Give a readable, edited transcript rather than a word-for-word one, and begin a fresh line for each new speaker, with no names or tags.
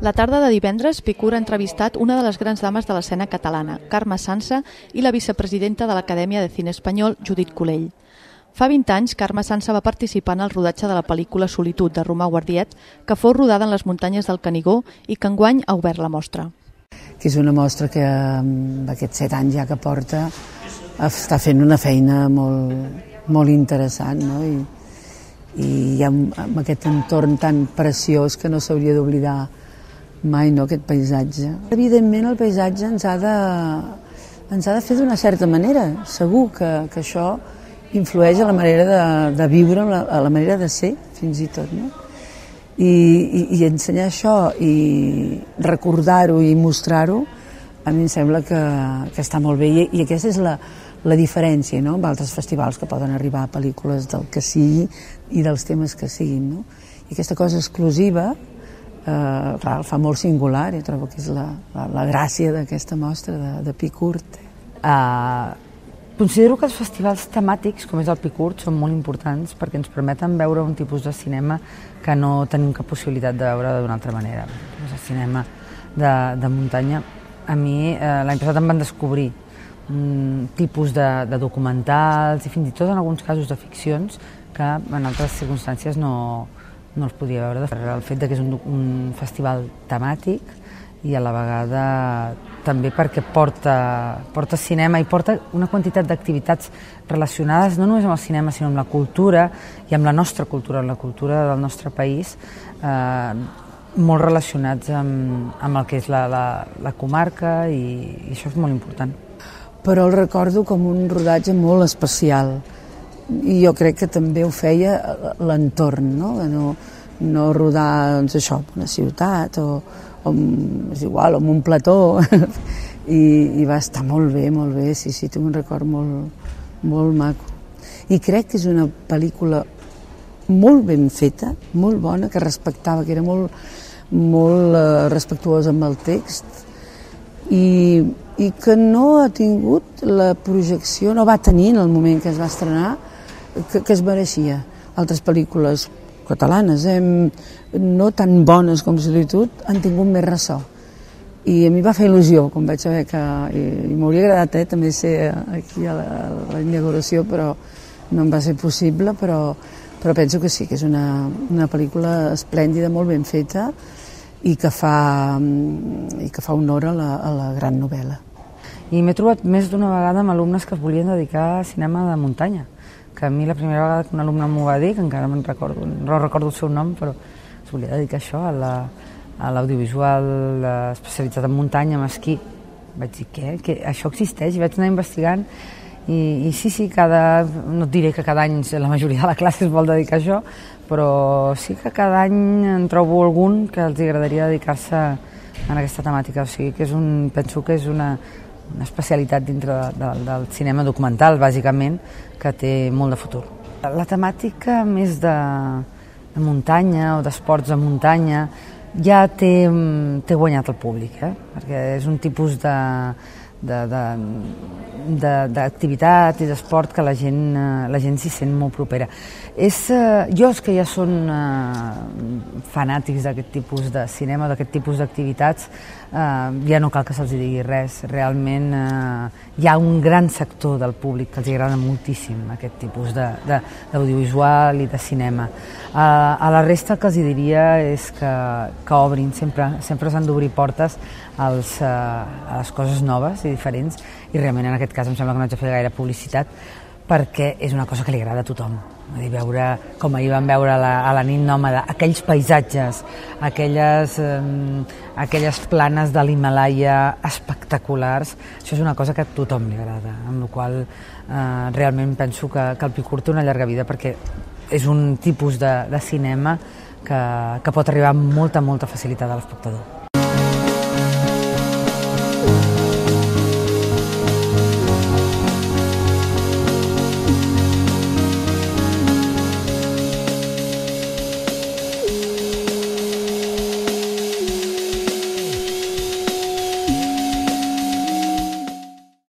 La tarda de divendres, Picur ha entrevistat una de les grans dames de l'escena catalana, Carme Sansa, i la vicepresidenta de l'Acadèmia de Cine Espanyol, Judit Culell. Fa 20 anys, Carme Sansa va participar en el rodatge de la pel·lícula Solitud, de Romà Guardiet, que fou rodada en les muntanyes del Canigó i que enguany ha obert la mostra.
Que és una mostra que amb aquests 7 anys ja que porta està fent una feina molt interessant, no? I hi ha aquest entorn tan preciós que no s'hauria d'oblidar mai, no, aquest paisatge. Evidentment el paisatge ens ha de fer d'una certa manera. Segur que això influeix a la manera de viure, a la manera de ser, fins i tot, no? I ensenyar això i recordar-ho i mostrar-ho, a mi em sembla que està molt bé. I aquesta és la diferència, no?, amb altres festivals que poden arribar a pel·lícules del que sigui i dels temes que siguin, no? I aquesta cosa exclusiva, clar, el fa molt singular, i trobo que és la gràcia d'aquesta mostra de Picur.
Considero que els festivals temàtics, com és el Picur, són molt importants perquè ens permeten veure un tipus de cinema que no tenim cap possibilitat de veure d'una altra manera. El cinema de muntanya. A mi l'any passat em van descobrir un tipus de documentals i fins i tot en alguns casos de ficcions que en altres circumstàncies no els podia veure. El fet que és un festival temàtic i a la vegada també perquè porta cinema i porta una quantitat d'activitats relacionades no només amb el cinema sinó amb la cultura i amb la nostra cultura, amb la cultura del nostre país, molt relacionats amb el que és la comarca i això és molt important.
Però el recordo com un rodatge molt especial i jo crec que també ho feia l'entorn, no rodar doncs, això, en una ciutat o és igual, en un plató i va estar molt bé, sí, tinc un record molt maco. I crec que és una pel·lícula molt ben feta, molt bona, que respectava, que era molt respectuosa amb el text i que no ha tingut la projecció, no va tenir en el moment que es va estrenar, que es mereixia. Altres pel·lícules catalanes, no tan bones com Solitud, han tingut més ressò. I a mi va fer il·lusió, quan vaig saber que... I m'hauria agradat també ser aquí a la inauguració, però no em va ser possible, però penso que sí, que és una pel·lícula esplèndida, molt ben feta, i que fa honor a la gran novel·la.
I m'he trobat més d'una vegada amb alumnes que es volien dedicar a cinema de muntanya, que a mi la primera vegada que un alumne m'ho va dir, que encara no recordo el seu nom, però es volia dedicar a això, a l'audiovisual especialitzat en muntanya, en esquí. Vaig dir, què? Això existeix? I vaig anar investigant i sí, no et diré que cada any la majoria de la classe es vol dedicar a això, però sí que cada any en trobo algun que els agradaria dedicar-se a aquesta temàtica. O sigui, que penso que és una especialitat dintre del cinema documental, bàsicament, que té molt de futur. La temàtica més de muntanya o d'esports de muntanya ja té guanyat el públic, perquè és un tipus d'activitat i d'esport que la gent s'hi sent molt propera. Els que ja són fanàtics d'aquest tipus de cinema, d'aquest tipus d'activitats, ja no cal que se'ls digui res. Realment hi ha un gran sector del públic que els agrada moltíssim aquest tipus d'audiovisual i de cinema. A la resta el que els diria és que obrin, sempre s'han d'obrir portes a les coses noves i diferents, i realment en aquest cas em sembla que no haig de fer gaire publicitat perquè és una cosa que li agrada a tothom. Veure, com ahir vam veure a la nit nòmada, aquells paisatges, aquelles planes de l'Himàlaia espectaculars, això és una cosa que a tothom li agrada, amb la qual realment penso que el Picur té una llarga vida perquè és un tipus de cinema que pot arribar amb molta facilitat a l'espectador.